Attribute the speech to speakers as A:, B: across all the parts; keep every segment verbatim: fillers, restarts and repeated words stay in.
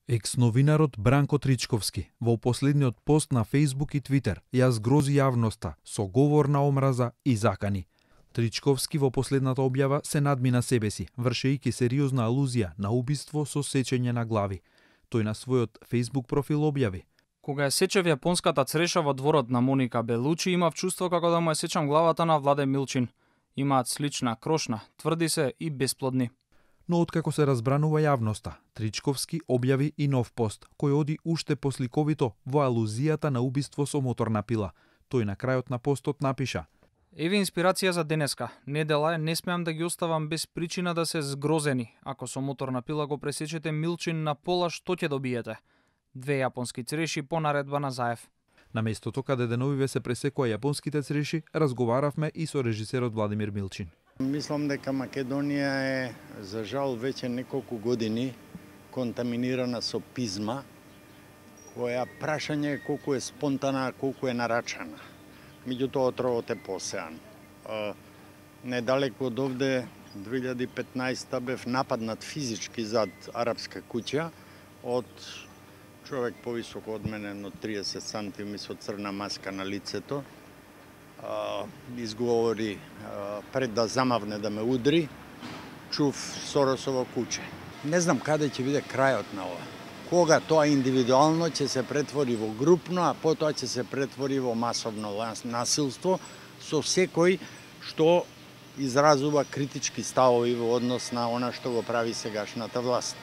A: Екс-новинарот Бранко Тричковски во последниот пост на Facebook и Twitter ја згрози јавноста со говор на омраза и закани. Тричковски во последната објава се надмина себе си, вршејќи сериозна алузија на убиство со сечење на глави. Тој на својот Facebook профил објави:
B: Кога ја сечев јапонската цреша во дворот на Моника Белучи, имав чувство како да му ја сечам главата на Владе Милчин. Имаат слична, крошна, тврди се и бесплодни.
A: Но откако се разбранува јавноста, Тричковски објави и нов пост, кој оди уште посликовито во алузијата на убиство со моторна пила. Тој на крајот на постот напиша:
B: Еве инспирација за денеска. Недела е, не смеам да ги оставам без причина да се згрозени. Ако со моторна пила го пресечете Милчин на пола, што ќе добиете? Две јапонски цреши по наредба на Заев.
A: На местото каде деновиве се пресекува јапонските цреши, разговаравме и со режисерот Владимир Милчин.
C: Мислам дека Македонија е, за жал, веќе неколку години контаминирана со пизма, која прашање е колку е спонтана, колку е нарачана. Меѓутоа отровот е посеан. Недалеку од овде, две илјади и петнаесета, бев нападнат физички зад арапска куќа од човек повисоко од мене, но триесет сантими со црна маска на лицето. Изговори пред да замавне да ме удри, чув Соросово куче. Не знам каде ќе биде крајот на ова. Кога тоа индивидуално ќе се претвори во групно, а потоа ќе се претвори во масовно насилство со секој што изразува критички ставови во однос на она што го прави сегашната власт.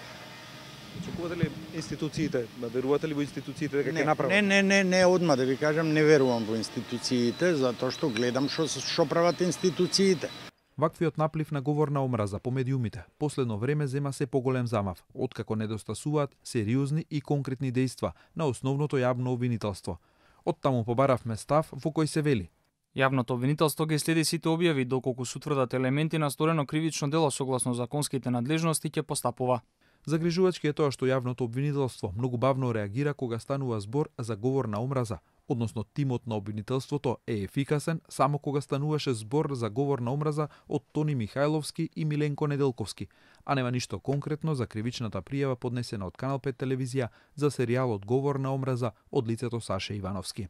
D: Очекувате ли институциите, верувате ли во институциите дека ќе направат?
C: Не, не, не, не, одма да ви кажам, не верувам во институциите, затоа што гледам што што прават институциите.
A: Ваквиот наплив на говор на омраза по медиумите последно време зема се поголем замав, откако недостасуваат сериозни и конкретни дејства на основното јавно обвинителство. Оттаму побаравме став во кој се вели:
B: Јавното обвинителство ги следи сите објави доколку се утврдат елементи на сторено кривично дело согласно законските надлежности ќе постапува.
A: Загрижувачки е тоа што јавното обвинителство многу бавно реагира кога станува збор за говор на омраза, односно тимот на обвинителството е ефикасен само кога стануваше збор за говор на омраза од Тони Михајловски и Миленко Неделковски, а нема ништо конкретно за кривичната пријава поднесена од Канал пет телевизија за серијалот Говор на омраза од лицето Саше Ивановски.